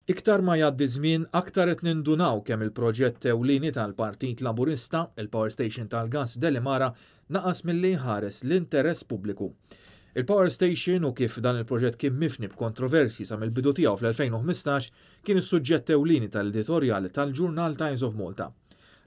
Iktar ma jgħaddi żmien, aktar qed nindunaw kemm il-proġett ewlieni tal-Partit Laburista, il-Power Station tal-gass Delimara, naqas milli jħares l-interess pubbliku. Il-Power Station u kif dan il-proġett kien mifni b'kontroversji sa mill-bidu tiegħu fl-2015 kien is-suġġett ewlieni tal-editorjal tal-ġurnal Times of Malta.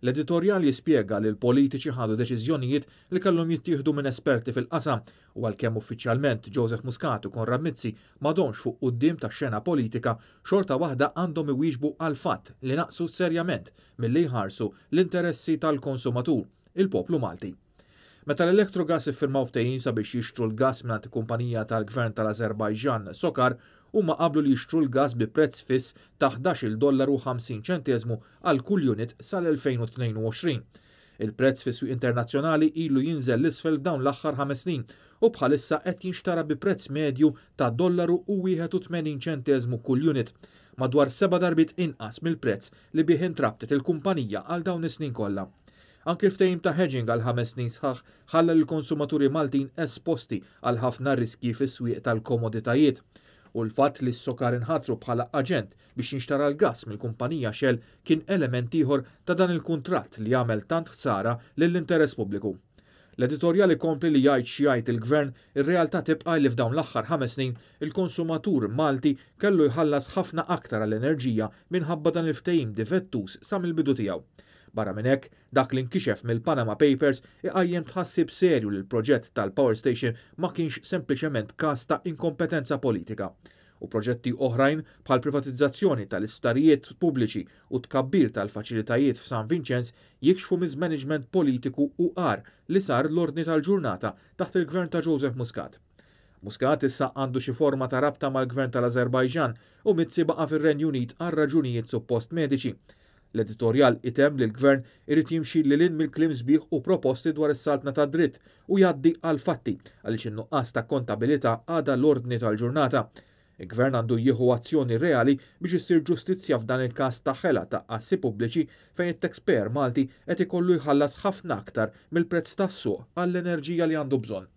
L-editorjal jispjega li l-politiċi ħadu deċiżjonijiet li kellhom jittieħdu minn esperti fil-qasam u għalkemm uffiċjalment Joseph Muscat u Konrad Mizzi m'għadhomx fuq quddiem tax-xena politika, xorta waħda għandhom iwieġbu għall-fatt li naqsu serjament milli jħarsu l-interessi tal-konsumatur, il-poplu Malti. Meta l-Electrogas iffirmaw ftehim sabiex jixtru l-gass mingħand kumpanija tal-Gvern tal-Azerbajġan, Socar, huma qablu li jixtru l-gass bi prezz fiss ta' 11-il dollaru 50 ċenteżmu għal kull unit sal-2022. Il-prezz fis-swieq internazzjonali ilu jinżel 'l isfel f'dawn l-aħħar 5 snin u bħalissa qed jinxtara bi prezz medju ta' dollaru u 81 ċenteżmu kull unit, madwar seba' darbiet inqas mill-prezz li bih intrabtet il-kumpanija għal dawn is-snin kollha. Anki l-ftehim ta' hedging għal 5 snin sħaħ ħalla l-konsumaturi Maltin esposti għal ħafna riski fis-swieq tal-komoditajiet. U l-fatt li s-Socar inħatru bħala aġent biex jinxtara l-gas mill-kumpanija Shell kien element ieħor ta' dan il-kuntratt li għamel tant ħsara lill-interess pubbliku. L-editorjal ikompli li jgħid x'jgħid il-gvern, ir-realtà tibqa' li f'dawn l-aħħar 5 snin il-konsumatur Malti kellu jħallas ħafna aktar għall-enerġija minħabba dan il-ftehim difettuż sa mill-bidu tiegħu. Barra minn hekk, dak li nkixef mill-Panama Papers iqajjem tħassib serju li l-proġett tal-Power Station ma kienx sempliċement każ ta' inkompetenza politika. U proġetti oħrajn bħal privatizzazzjoni tal-isptarijiet pubbliċi u tkabbir tal-faċilitajiet f'San Vincenz jikxfu mismanagement politiku u għar li sar l-ordni tal-ġurnata taħt il-gvern ta' Joseph Muscat. Muscat issa għandu xi forma ta' rabta mal-gvern tal-Azerbajġan u Mizzi baqa' fir-Renju Unit għal raġunijiet suppost mediċi. L-editorjal itemm li l-gvern irid jimxi lil hinn mill-kliem sbieħ u proposti dwar is-saltna ta' dritt u jgħaddi għal fatti għaliex in-nuqqas ta' kontabilità għadha l-ordni tal-ġurnata. Il-gvern għandu jieħu azzjoni reali biex issir ġustizzja f'dan il-każ ta' ħela ta' assi pubbliċi fejn it-taxpayer Malti qed ikollu jħallas ħafna aktar mill-prezz tas-suq għall-enerġija li għandu bżonn.